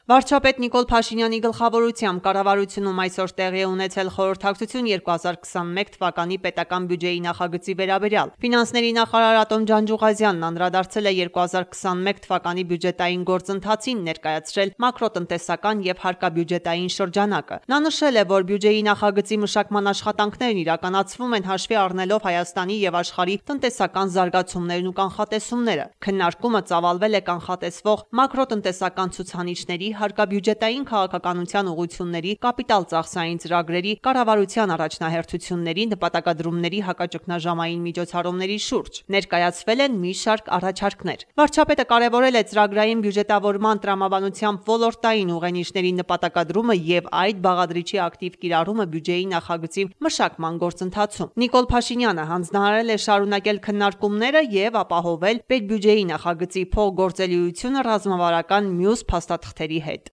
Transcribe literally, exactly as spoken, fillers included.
Վարչապետ Նիկոլ Փաշինյանի գլխավորությամբ կառավարությունում այսօր տեղի է ունեցել խորհրդակցություն երկու հազար քսաներկու թվականի պետական բյուջեի նախագծի վերաբերյալ։ Ֆինանսների նախարար Ատոմ Ջանջուղազյանն անդրադարձել է երկու հազար քսաներկու թվականի բյուջետային գործընթացին, ներկայացրել մակրոտնտեսական եւ հարկաբյուջետային շրջանակը։ Նա նշել է, որ բյուջեի նախագծի մշակման աշխատանքներն իրականացվում են հաշվի առնելով Հայաստանի եւ աշխարհի տնտեսական զարգացումներն ու կանխատեսումները։ Քննարկումը ծավալվել է կանխատեսվող մակրոտնտեսական ցուցանիշների, հարկաբյուջետային քաղաքականության ուղղությունների, կապիտալ ծախսային ծրագրերի, կառավարության առաջնահերթությունների, նպատակադրումների, հակաճգնաժամային միջոցառումների շուրջ։ Ներկայացվել են մի շարք առաջարկներ։ Վարչապետը կարևորել է ծրագրային բյուջետավորման տրամաբանությամբ ոլորտային ուղենիշների նպատակադրումը եւ այդ բաղադրիչի ակտիվ կիրառումը բյուջեի նախագծի մշակման գործընթացում։ Նիկոլ Փաշինյանը հանձնարարել է շարունակել քննարկումները եւ ապահովել պետբյուջեի նախագծի փոխգործելիությունը ռազմավարական մյուս փաստաթղթերի հետ։